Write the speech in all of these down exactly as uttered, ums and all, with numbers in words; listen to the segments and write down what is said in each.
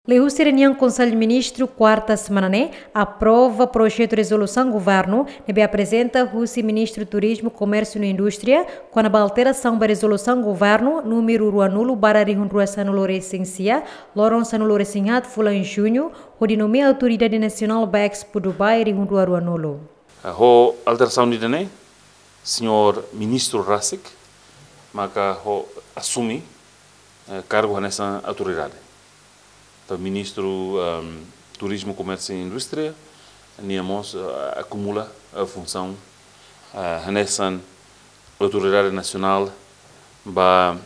Liuhusi reuniaun Konsellu Ministru kuarta semana ne'e, aprova projetu rezolusaun governu ne'ebé aprezenta husi Ministru Turizmu, Komérsiu no Indústria, kona-ba alterasaun ba rezolusaun governu númeru ruanulu barra rihun rua sanulu resin sia, loron sanulu resin haat fulan Juñu, hodi nomeia autoridade nasionál ba Expo Dubai rihun rua ruanulu. Ho alterasaun ida-ne'e, señór ministru rasik maka ho asume, eh, kargu hanesan autoridade. Entaun, ministru, ehm, Turizmu, Komérsiu i Indústria, nia mós, eh, akumula, eh, funsaun, eh, hanesan autoridade nasionál ba,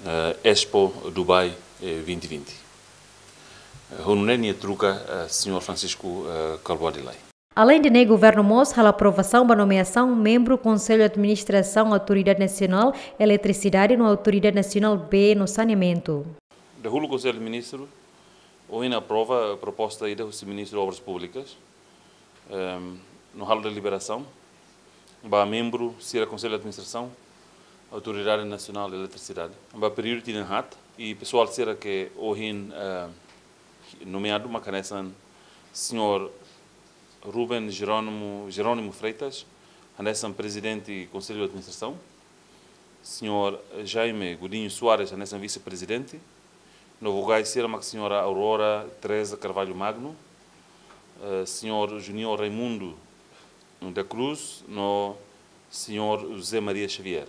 eh, Expo Dubai, eh, vinte vinte. Eh, ho nune'e nia troka, eh, señór Francisco, eh, Kalbuadi Lay. Aleinde ne'e, governu mós halo aprovasaun ba nomeasaun membru Konsellu Administrasaun Autoridade Nasionál Eletrisidade no Autoridade Nasionál Bee no Saneamentu. Dahuluk Konsellu Ministru ohin aprova proposta ida husi Ministru Obras Públikas, ehm, no halo deliberasaun ba membru sira Konsellu Administrasaun Autoridade Nasionál Eletrisidade ba períodu tinan haat, i pesoál sira ke ohin, eh, nomeadu maka hanesan señór Ruben Jerónimo, Jerónimo Freitas hanesan prezidente Konsellu Administrasaun, señór Jaime Godinho Soares hanesan vise-prezidente, no vogais sira maka señora Aurora Teresa Carvalho Magno, eh, señór Junior Raimundo da Cruz no señór José Maria Xavier.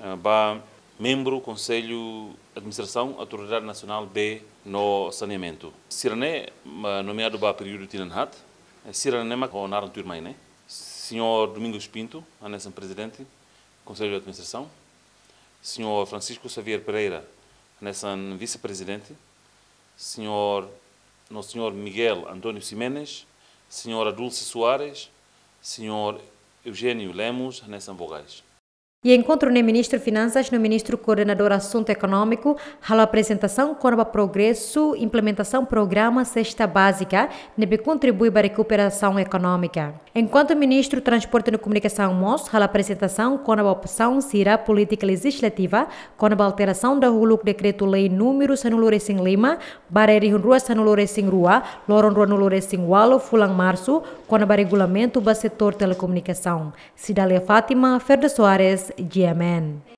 Eh, ba membru Konsellu Administrasaun Autoridade Nasionál Bee no Saneamentu. Sira-ne'e, ma, nomeadu ba períodu tinan haat, eh, sira-ne'e mak ho naran tuirmai ne'e. Señór Domingos Pinto hanesan prezidente Konsellu Administrasaun, señór Francisco Xavier Pereira hanesan vise-prezidente, señór, no señór Miguel António Ximenes, señora Dulce Soares, señór Eugênio Lemos hanesan vogais. I enkontru ne'e Ministru Finansas no Ministru Koordenadór Asuntu Ekonómiku halo aprezentasaun kona-ba progresu implementasaun programa Sesta Bázika ne'ebé kontribui ba rekuperasaun ekonómika. Enkuantu Ministru Transporte no Komunikasaun mós halo aprezentasaun kona-ba opsaun sira polítika lejizlativa kona-ba alterasaun dahuluk Dekretu-Lei númeru sanulu resin lima barra rihun rua sanulu resin rua, loron ruanulu resin ualu fulan Marsu, kona-ba regulamentu ba setór telekomunikasaun. Cidália Fátima, Ferdo Soares, G M N.